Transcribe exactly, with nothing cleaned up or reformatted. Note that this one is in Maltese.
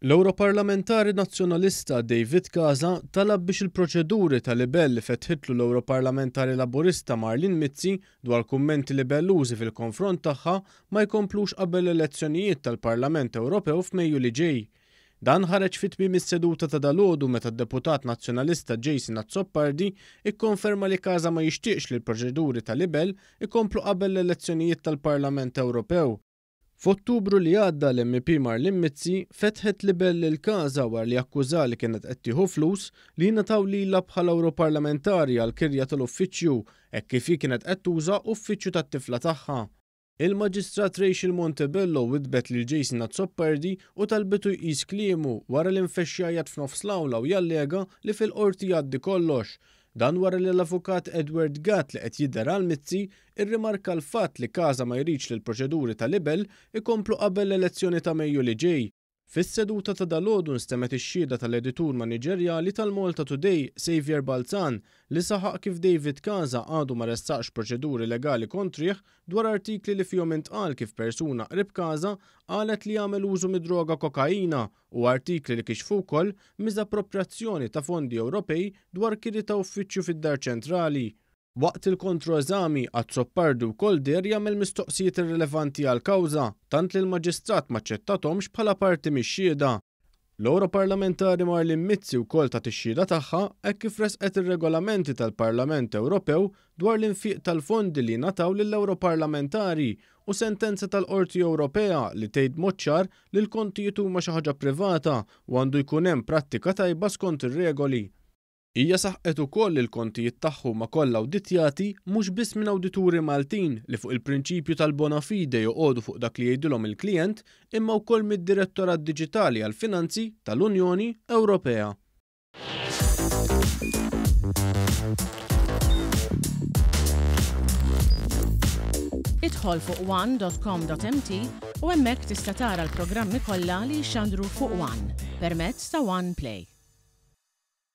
L-Ewroparlamentari Nazzjonalista David Casa talab biex il-proċeduri ta' libell li fetħitlu l-Ewroparlamentari Laburista Marlene Mizzi dwar kummenti libellużi fil-konfront tagħha ma jkomplux qabel l-elezzjonijiet tal-Parlament Ewropew f'Mejju li ġej. Dan ħareġ fi tmiem is-seduta ta' dalgħodu meta d-deputat Nazzjonalista Jason Azzopardi ikkonferma li Casa ma jixtieqx li l-proċeduri ta' libell ikomplu qabel l-elezzjonijiet tal-Parlament Ewropew. F'Ottubru li għadda l-M P Marlene Mizzi fetħet libell lil Casa wara li akkuża li kienet qed tieħu flus li jingħataw lilha bħala Ewroparlamentari għal kirja tal-uffiċċju hekk kif hi kienet qed tuża uffiċċju tat-tifla tagħha. Il-Maġistrat Rachel Montebello widbet lil Jason Azzopardi u talbitu jqis kliemu wara li nfexx jgħajjat f'nofs l-awla u jallega li fil-qorti jgħaddi kollox. Dan wara li l-avukat Edward Gatt li qed jidher għal Mizzi irrimarka l-fatt li Casa ma jridx li l-proċeduri ta' libell ikomplu qabel l-elezzjoni ta' Mejju li ġej. Fis-seduta ta' dalgħodu nstemgħet ix-xhieda tal-editur maniġerjali tal-Malta Today, Xavier Balzan, li saħaq kif David Casa għadu ma ressaqx proċeduri legali kontrih dwar artikli li fihom intqal kif persuna qrib Casa qalet li jagħmel użu mid-droga kokaina u artikli li kixfu wkoll miżappropriazzjoni ta' fondi Ewropej dwar kiri ta' uffiċċju fid-Dar Ċentrali. Waqt il-kontroeżami, Azzopardi wkoll deher jagħmel mistoqsijiet irrilevanti għall-kawża, tant li l-maġistrat ma ċċettathomx bħala parti mix-xhieda. L-Ewroparlamentari Marlene Mizzi wkoll tat ix-xhieda tagħha hekk kif resqet ir-regolamenti tal-Parlament Ewropew dwar l-infiq tal-fondi li ngħataw lill-Ewroparlamentari u sentenza tal-Qorti Ewropea li tgħid mod ċar li l-kontijiet huma xi ħaġa privata u għandu jkun hemm prattika tajba skont ir-regoli. Hija saħqet ukoll li l-kontijiet tagħha huma kollha awditjati mhux biss minn awdituri Maltin li fuq il-prinċipju tal-bona fide joqogħdu fuq dak li jgħidilhom il-klijent imma wkoll mid-Direttorat Diġitali għall-Finanzi tal-Unjoni Ewropea. Idħol fuq one dot com dot m t u hemmhekk tista' tara l-programmi kollha li jxandru fuq One permezz ta' One Play.